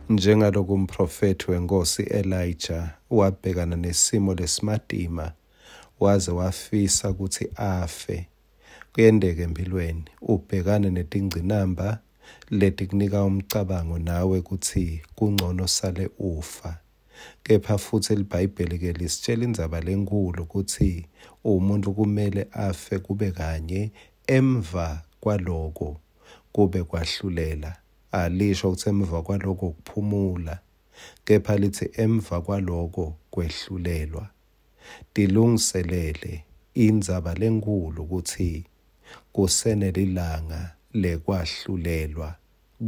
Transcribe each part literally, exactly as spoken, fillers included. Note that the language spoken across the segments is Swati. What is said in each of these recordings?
Njengaloku umprofethi wenkosi Elijah wabhekana nesimo lesimatima waze wafisa kutsi afe, kuyenteka empilweni ubhekane netingcinamba letikunika umcabango nawe kutsi kungcono sale ufa. Kepha futsi liBhayibheli-ke lisitshela indzaba lenkhulu kutsi umuntu kumele afe kube kanye, emva kwaloko kube kwahlulela. Alisho kutsi emva kwaloko kuphumula, kepha litsi emva kwaloko kwehlulelwa. Tilungiselele indzaba lenkhulu kutsi kusenelilanga lekwahlulelwa.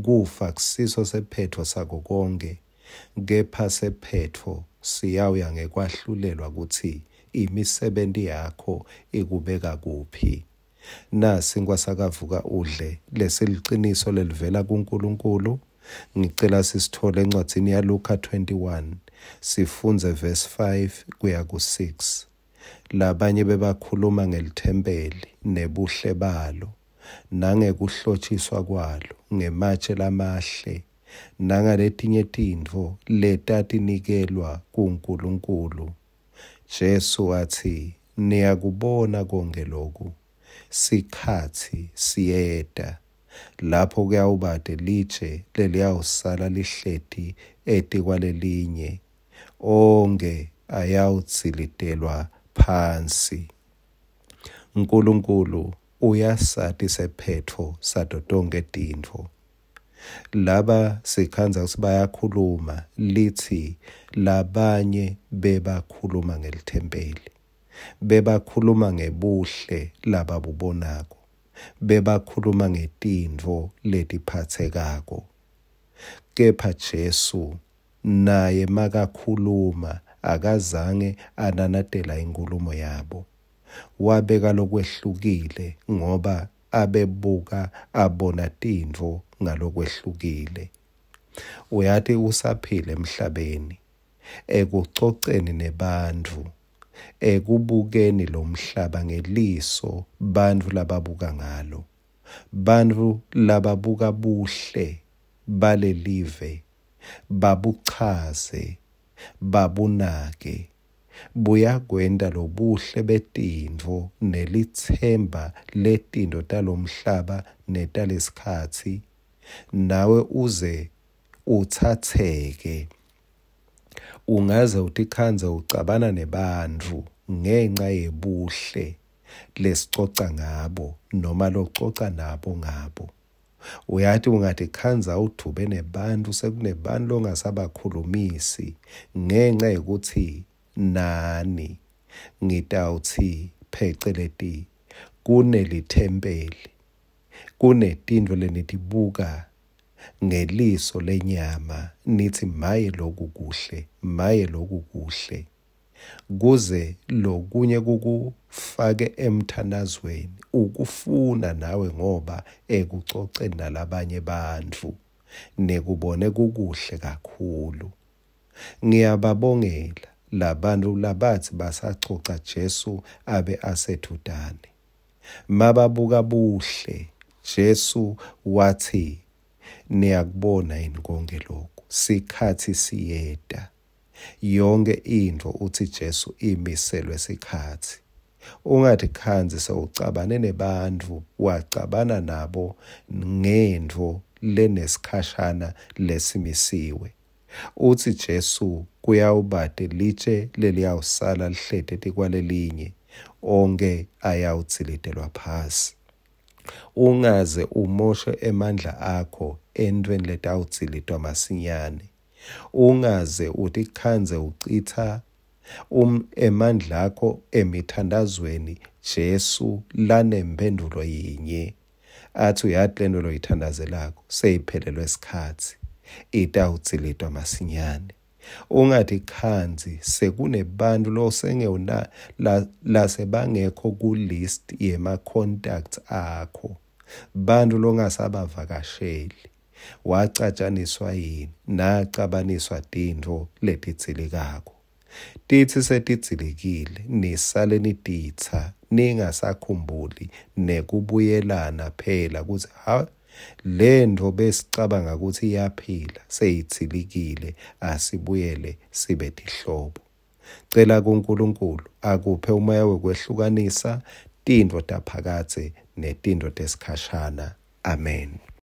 Kufa kusiso sephetfo sako konkhe, kepha sephetfo siyawuya ngekwahlulelwa kutsi imisebenti yakho ikubeka kuphi. Nasi sakavuka udle lesiliciniso lelivela kuNkulunkulu. Ngicela sisithole encwadzini yaLuka twenty-one, sifundze verse five kuya ku six. Labanye bebakhuluma ngelithempeli nebuhle balo, nangekuhlotshiswa kwalo ngematshe lamahle, nangaletinye tintfo letatinikelwa kuNkulunkulu. Jesu watsi, niyakubona konke loku, sikhatsi siyeta lapho kuyawubate litshe leliyawusala lihleti etikwalelinye, onkhe ayawudzilitelwa phansi. Nkulunkulu uyasati sephetfo sato tonkhe tintfo. Laba sikhandza kutsi bayakhuluma, litsi labanye bebakhuluma ngelithempeli, bebakhuluma ngebuhle lababubonako, bebakhuluma ngetintfo letiphatsekako. Kepha Jesu naye makakhuluma akazange ananatela inkulumo yabo. Wabeka lokwehlukile ngoba abebuka abona tintfo ngalokwehlukile. Uyati usaphila emhlabeni, ekucoceni nebantfu, ekubukeni lomhlaba ngeliso bantfu lababuka ngalo. Bantfu lababuka buhle balelive babuchaze, babunake, buyakwenta lobuhle betintfo nelitsemba letintfo talomhlaba netalesikhatsi, nawe uze utsatseke. Ungaze utikhandze ucabana nebantfu ngenca yebuhle lesicoca ngabo noma lococa nabo ngabo. Uyati ungatikhandza udvube nebantfu, sekunebantu longasabakhulumisi ngenca yekuthi nani ngitawutsi pheceleti kunelithempeli, kunetintfo lenitibuka ngeliso lenyama nithi maye loku kuhle, maye loku kuhle, kuze lokunye kukufake emthandazweni ukufuna nawe ngoba ekucoceni nalabanye bantfu nekubone kukuhle kakhulu. Ngiyababongela labantu labathi basacoca Jesu abe asethutane. Mababuka buhle, Jesu wathi niyakubona yini konke lokhu, sikhatsi siyeta. Yonke intfo uthi Jesu imiselwe sikhatsi. Ungatikhandzi sewucabane nebantfu, wacabana nabo ngentfo lenesikhashana lesimisiwe. Uthi Jesu kuyawubate litshe leliyawusala lihleti etikwalelinye, onke ayawudzilitelwa phasi. Ungaze umoshe emandla akho entweni letawudzilitwa masinyane. Ungaze utikhandze ucitha um emandla akho emithandazweni Jesu lanemphendulo yinye, athi uyati lento loyithandazelako seyiphelelwe sikhatsi, itawudzilitwa masinyane. Ungatikhandzi sekunebantu losengewuna lasebangekho ku-list yema-contacts akho, bantu longasabavakasheli. Wacatshaniswa yini? Nacabaniswa tintfo letidzilikako. Titsi setidzilikile, nisale nititsa, ningasakhumbuli nekubuyelana phela kutsi ha Lentfo besicabanga kutsi iyaphila seyidzilikile, asibuyele sibe tihlobo. Cela kuNkulunkulu akuphe umoya wekwehlukanisa tintfo taphakadze netintfo tesikhashana. Amen.